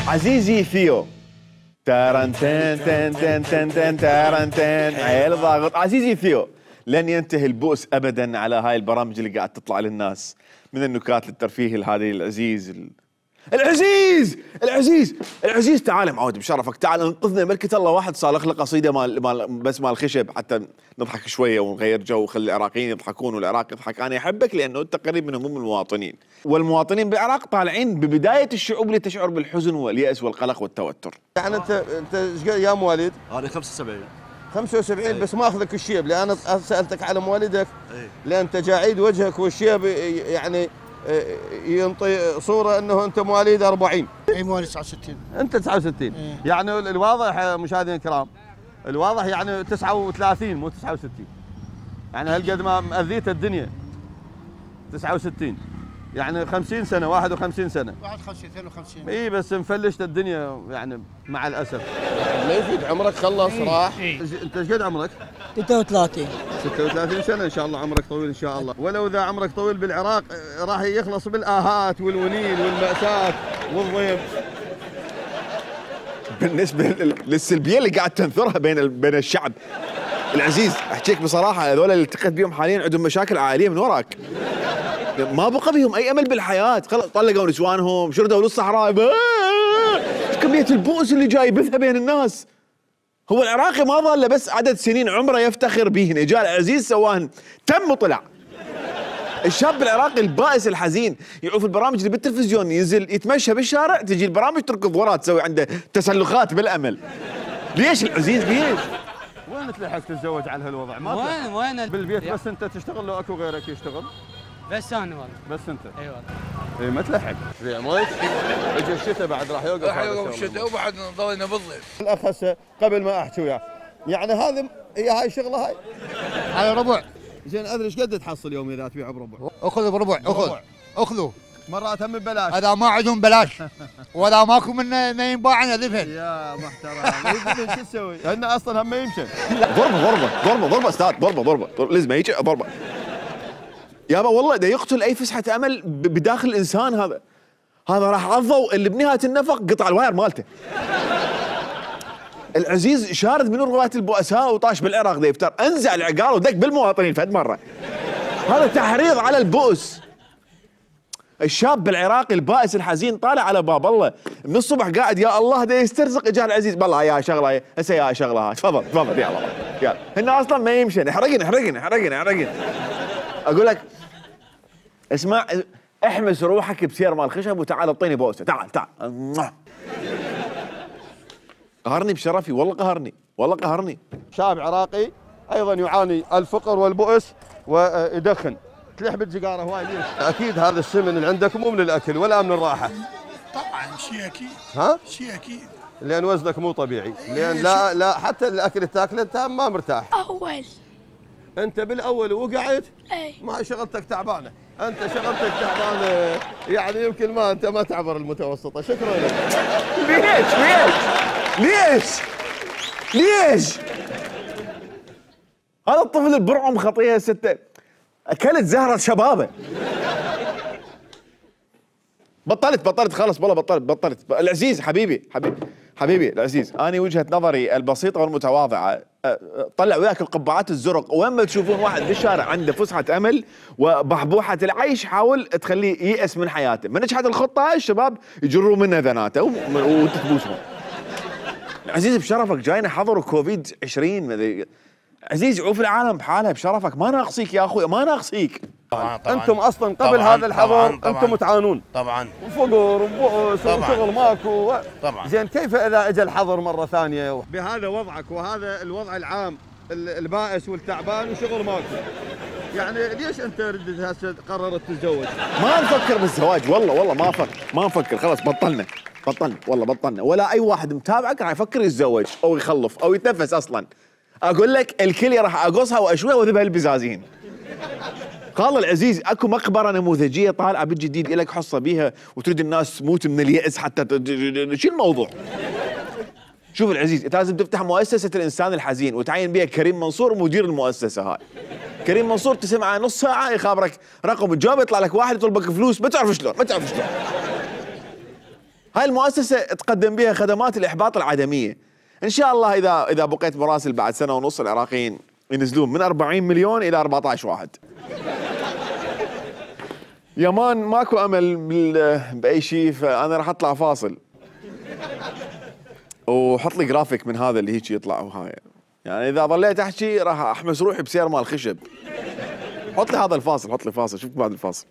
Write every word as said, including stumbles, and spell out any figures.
عزيزي ثيو تارن تن تن تن تن تن تارن تن عيل ضاغط. عزيزي ثيو، لن ينتهي البؤس ابدا على هاي البرامج اللي قاعد تطلع للناس من النكات للترفيه الهذه العزيز ال... العزيز العزيز العزيز تعال معود بشرفك، تعال انقذنا ملكة الله. واحد صالح له قصيده مال مال بس مال خشب حتى نضحك شويه ونغير جو وخلي العراقيين يضحكون والعراق يضحك. انا احبك لانه انت قريب من هموم المواطنين، والمواطنين بالعراق طالعين ببدايه الشعوب اللي تشعر بالحزن والياس والقلق والتوتر. يعني انت انت ايش يا مواليد؟ انا خمسة وسبعين خمسة وسبعين. أي. بس ما اخذك الشيب لان انا سالتك على موالدك. أي. لان تجاعيد وجهك والشيب يعني ينطي صوره انه انت مواليد أربعين. اي مواليد تسعة وستين. انت تسعة وستين. إيه. يعني الواضح مشاهدينا الكرام، الواضح يعني تسعة وثلاثين مو تسعة وستين. يعني هالقد ما مأذيت الدنيا. تسعة وستين يعني خمسين سنه، واحد وخمسين سنه. واحد وخمسين اثنين وخمسين. اي بس مفلشت الدنيا يعني مع الاسف. ما يفيد عمرك خلص راح. إيه. انت ايش قد عمرك؟ ستة وثلاثين. ستة وثلاثين سنه ان شاء الله عمرك طويل ان شاء الله. ولو اذا عمرك طويل بالعراق راح يخلص بالاهات والونين والمأساة والضيم. بالنسبه للسلبيه اللي قاعد تنثرها بين بين الشعب العزيز، احكيك بصراحه هذول اللي التقيت بهم حاليا عندهم مشاكل عائليه من وراك. ما بقى بهم اي امل بالحياه، خلص طلقوا نسوانهم، شردوا للصحراء. ايش كميه البؤس اللي جاي يبثها بين الناس. هو العراقي ما ظل بس عدد سنين عمره يفتخر بهن، اجى العزيز سواهن تم وطلع. الشاب العراقي البائس الحزين يعوف البرامج اللي بالتلفزيون، ينزل يتمشى بالشارع تجي البرامج تركض وراه تسوي عنده تسلخات بالامل. ليش العزيز ليش؟ وين تلحق تتزوج على هالوضع؟ ما وين وين بالبيت بس انت تشتغل لو اكو غيرك يشتغل؟ بس انا والله. بس انت؟ اي والله. اي ما تلحق. زين مايك اجى الشتاء بعد راح يوقف. راح يوقف الشتاء وبعد ضلينا بالضيف. الاخ هسه قبل ما احكي وياه، يعني هذه هي هاي الشغله هاي؟ هاي ربع. زين ادري ايش قد تحصل يومي اذا تبيع بربع؟ اخذ بربع اخذ اخذوا. مرات هم ببلاش. هذا ما عندهم بلاش ولا ماكو منه ما ينباع ذفن. يا محترم. شو تسوي؟ هن اصلا هم ما يمشن. ضربه ضربه ضربه ضربه استاذ، ضربه ضربه لازم يجي ضربه. يابا والله ده يقتل اي فسحه امل بداخل الانسان. هذا هذا راح عضوا اللي بنهايه النفق قطع الواير مالته. العزيز شارد من روايه البؤساء وطاش بالعراق ذا يفتر، انزع العقال ودق بالمواطنين فد مره. هذا تحريض على البؤس. الشاب العراقي البائس الحزين طالع على باب الله من الصبح قاعد يا الله ده يسترزق. اجاه العزيز بالله يا شغله هسه يا شغله تفضل تفضل يا الله يلا. هن اصلا ما يمشن. احرقن احرقن احرقن احرقن. اقول لك اسمع، احمس روحك بسير مال خشب وتعال اعطيني بوسه. تعال تعال. قهرني بشرفي والله قهرني والله قهرني. شاب عراقي ايضا يعاني الفقر والبؤس ويدخن. تلح بالسيجاره هواي ليش؟ اكيد هذا السمن اللي عندك مو من الاكل ولا من الراحه. طبعا شيء اكيد. ها؟ شيء اكيد. لان وزنك مو طبيعي، لان لا لا حتى الاكل اللي تاكله انت ما مرتاح. أول. انت بالاول وقعت. أي. ما شغلتك تعبانه، انت شغلتك تعبانه يعني يمكن ما انت ما تعبر المتوسطه. شكرا لك. ليش ليش ليش ليش؟ هذا الطفل البرعم خطيه ستة اكلت زهره شبابه. بطلت بطلت خلص والله بطلت بطلت. العزيز حبيبي حبيبي حبيبي العزيز، انا وجهه نظري البسيطه والمتواضعه طلع وياك القبعات الزرق، وين ما تشوفون واحد بالشارع عنده فسحه امل وبحبوحه العيش حاول تخليه ييأس من حياته. من نجحت الخطه الشباب يجروا منها ذناته وتتبوسهم. العزيز بشرفك جاينا حظر كوفيد عشرين. عزيز عوف العالم بحالها بشرفك، ما ناقصيك يا اخوي ما ناقصيك. طبعا طبعا انتم اصلا قبل طبعاً هذا الحظر طبعاً انتم تعانون طبعا وفقر وبؤس وشغل ماكو. طبعا. زين كيف اذا اجى الحظر مره ثانيه بهذا وضعك وهذا الوضع العام البائس والتعبان وشغل ماكو؟ يعني ليش انت ردت هسه قررت تتزوج؟ ما نفكر بالزواج والله والله ما فكر ما نفكر خلاص بطلنا بطلنا والله بطلنا. ولا اي واحد متابعك راح يفكر يتزوج او يخلف او يتنفس اصلا. اقول لك الكليه راح اقصها واشويها واذبها البزازين. قال العزيز اكو مقبره نموذجيه طالعه بالجديد الك حصه بيها وتريد الناس تموت من اليأس حتى شو الموضوع؟ شوف العزيز انت لازم تفتح مؤسسه الانسان الحزين وتعين بها كريم منصور مدير المؤسسه هاي. كريم منصور تسمعه نص ساعه يخابرك رقم الجواب يطلع لك واحد يطلبك فلوس ما تعرف شلون ما تعرف شلون. هاي المؤسسه تقدم بها خدمات الاحباط العدميه. ان شاء الله اذا اذا بقيت مراسل بعد سنه ونص العراقيين ينزلون من أربعين مليون الى أربعة عشر واحد. يمان ماكو امل باي شيء، فانا راح اطلع فاصل وحط لي جرافيك من هذا اللي هيك يطلع وهاي، يعني اذا ظليت احكي راح احمس روحي بسير مال خشب. حط لي هذا الفاصل، حط لي فاصل، شوفك بعد الفاصل.